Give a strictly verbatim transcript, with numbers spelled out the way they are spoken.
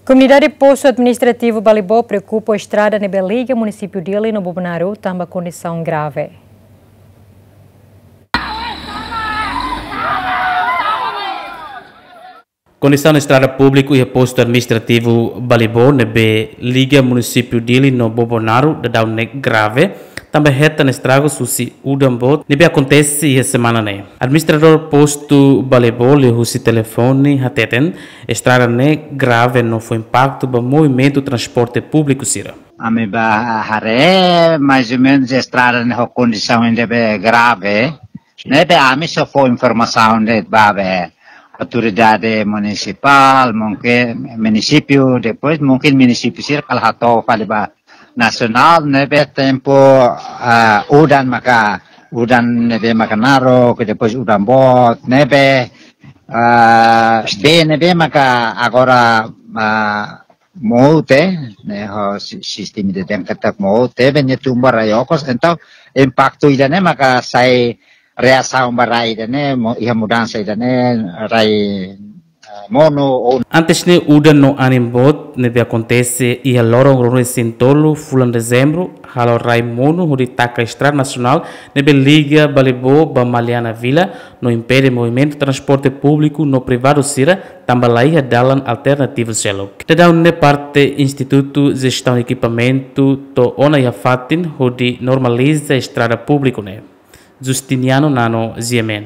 Komunidade Postu Administrativu Balibó preokupa ho estrada ne'ebé liga munisípiu Dili no Bobonaro tanba kondisaun grave. Kondisaun estrada públiku iha Postu Administrativu Balibó ne'ebé liga munisípiu Dili no Bobonaro daudaun ne'e grave, tanba hetan estragus husi udan boot ne'ebé akontese iha semana ne'e. Administradór Postu Balibó liuhusi telefone hateten, estrada ne'e grave no fó impaktu ba movimentu transporte públiku sira. Ami bá haree, mais ou menus estrada ne'e ho kondisaun ida be grave. Ne'ebé ami só fó informasaun de'it ba be autoridade munisipál, mungkin munisípiu, depois mungkin munisípiu sira kala hato'o fali ba nasionál, ne'ebé tempu, ah, udan maka, udan ne'ebé maka naruk, depois udan boot, ne'ebé, ah, bee ne'ebé maka agora, ah, mout, ne'e ho si-, sistema de dengkatak mout, ne'ebé nia tun ba rai okos, entaun impaktu ida-ne'e maka sai reasaun ba rai ida-ne'e, mo-, iha mudansa ida-ne'e, rai, ah, monu ou. Antes ne'e udan no anin boot ne'ebé akontese iha loron ruanulu-resin-tolu fulan Dezembru, halo rai monu hodi taka estrada nasionál ne'ebé liga Balibó ba Maliana Vila no impede movimentu transporte públiku no privadu sira tanba laiha dalan alternativu seluk. Daudaun ne'e parte Institutu Jestaun Ekipamentu to'o ona iha fatin hodi normaliza estrada públiku ne'e. Justiniano Nano, G M N.